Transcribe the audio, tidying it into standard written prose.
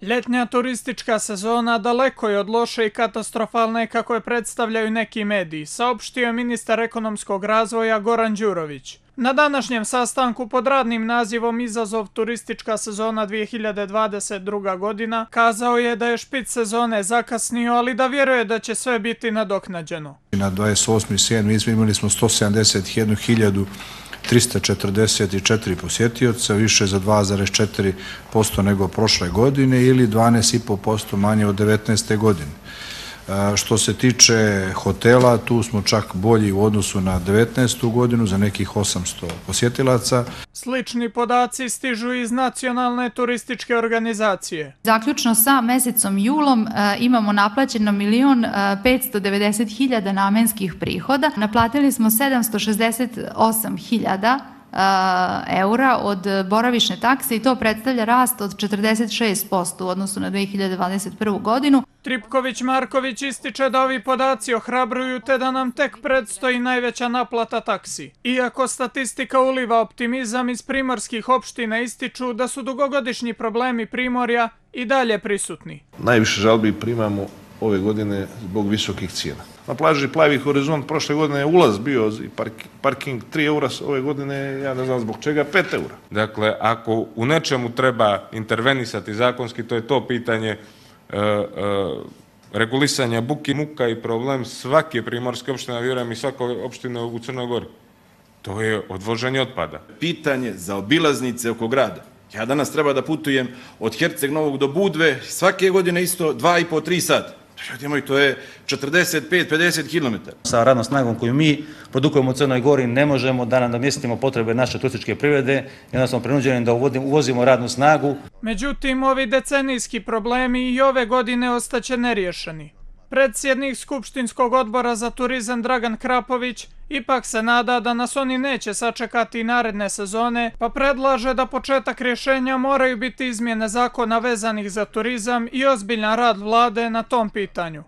Ljetnja turistička sezona daleko je od loše i katastrofalne kako je predstavljaju neki mediji, saopštio je ministar ekonomskog razvoja Goran Đurović. Na današnjem sastanku pod radnim nazivom Izazov turistička sezona 2022. godina kazao je da je špic sezone zakasnio, ali da vjeruje da će sve biti nadoknađeno. Na 28.7. imali smo 171.344 posjetioca, više za 2,4% nego prošle godine ili 12,5% manje od 19. godine. Što se tiče hotela, tu smo čak bolji u odnosu na 19. godinu za nekih 800 posjetilaca. Slični podaci stižu iz nacionalne turističke organizacije. Zaključno sa mesecom julom imamo naplaćeno 1.590.000 namenskih prihoda. Naplatili smo 768.000 eura od boravišne takse i to predstavlja rast od 46% u odnosu na 2021. godinu. Tripković-Marković ističe da ovi podaci ohrabruju te da nam tek predstoji najveća naplata taksi. Iako statistika uliva optimizam, iz primorskih opština ističu da su dugogodišnji problemi Primorja i dalje prisutni. Najviše žalbi primamo ove godine zbog visokih cijena. Na plaži Plavi Horizont prošle godine je ulaz bio i parking 3 eura, ove godine ja ne znam zbog čega 5 eura. Dakle, ako u nečemu treba intervenisati zakonski, to je to pitanje regulisanja buke, muka i problem svake primorske opštine, vjerujem i svake opštine u Crnoj Gori. To je odvoženje otpada. Pitanje za obilaznice oko grada. Ja danas treba da putujem od Herceg Novog do Budve, svake godine isto 2,5-3 sata. To je 45-50 km. Sa radnom snagom koju mi produkujemo u Crnoj Gori ne možemo da nam namjestimo potrebe naše turističke privrede, onda smo prinuđeni da uvozimo radnu snagu. Međutim, ovi decenijski problemi i ove godine ostaće neriješeni. Predsjednik Skupštinskog odbora za turizam Dragan Krapović ipak se nada da nas oni neće sačekati naredne sezone, pa predlaže da početak rješenja moraju biti izmjene zakona vezanih za turizam i ozbiljan rad vlade na tom pitanju.